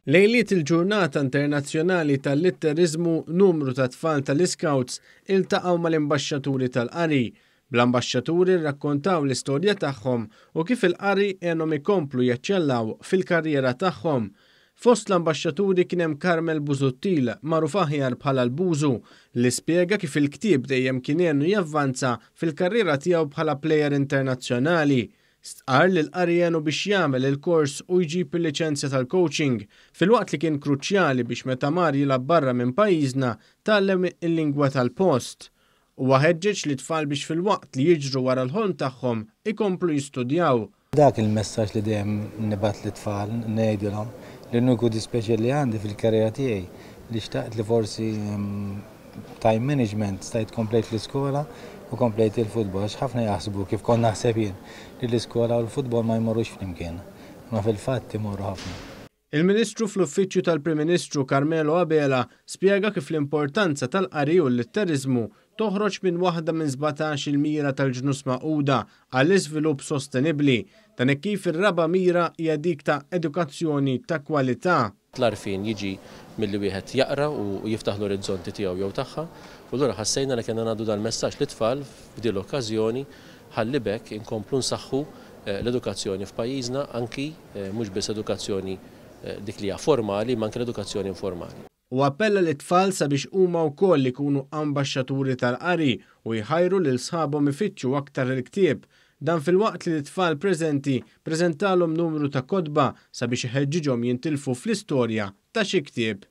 Lejliet il-Ġurnata Internazzjonali tal-Litteriżmu numru ta' tfal tal-Iscouts iltaqgħu mal-Imbaxxaturi tal-Qari. Bl-ambaxxaturi rrakkontaw l-istorja tagħhom u kif il-qari għenhom ikomplu jeċċellaw fil-karriera tagħhom. Fost l-ambaxxaturi kien hemm Carmel Busuttil, magħruf aħjar bħala l-Bużu, li spjega kif il-ktieb dejjem kien għenu javvanza fil-karriera tiegħu bħala plejer internazzjonali. Stqarr li l-qari għenu biex jagħmel il-kors u jġib il-liċenzja tal-coaching, filwaqt li kien kruċjali biex meta mar jilgħab barra minn pajjiżna tgħallem il-lingwa tal-post. Huwa ħeġġeġ lit-tfal biex filwaqt li jiġru wara l-ħolm tagħhom ikomplu jistudjaw. Dak il-messaġġ li dejjem nibgħat lit-tfal, ngħidilhom li l-uniku dispjaċir li għandi fil-karriera tiegħi li xtaqt li forsi time management stajt komplejt l-iskola u komplejt il-futbol għax ħafna jaħsbu kif kont naħseb jien li l-iskola u l-futbol ma jmorrux flimkien. Imma fil-fatt imorru ħafna. Il-Ministru fl-Uffiċċju tal-Prim Ministru Carmelo Abela spjega kif l-importanza tal-qari u l-litteriżmu toħroġ minn waħda minn 17 il-mira tal-Ġnus Magħquda għall-Iżvilupp Sostenibbli. Dan hekk kif ir-raba' mira hija dik ta' edukazzjoni ta' kwalità. L-għarfien jiġi milli wieħed jaqra u jiftaħ l-orizzonti tiegħu jew tagħha u allura ħassejna li kellna ngħaddu dal-messaġġ lit-tfal f'din l-okkażjoni ħalli b'hekk inkomplu nsaħħu l-edukazzjoni f'pajjiżna anki mhux biss edukazzjoni dik li hija formali imma anki l-edukazzjoni informali. Hu appella lit-tfal sabiex huma wkoll ikunu ambaxxaturi tal-qari u jħajru lil sħabhom ifittxu aktar il-ktieb. Dan filwaqt li lit-tfal preżenti preżentalhom numru ta' kotba sabiex iħeġġiġhom jintilfu fl-istorja ta' xi ktieb.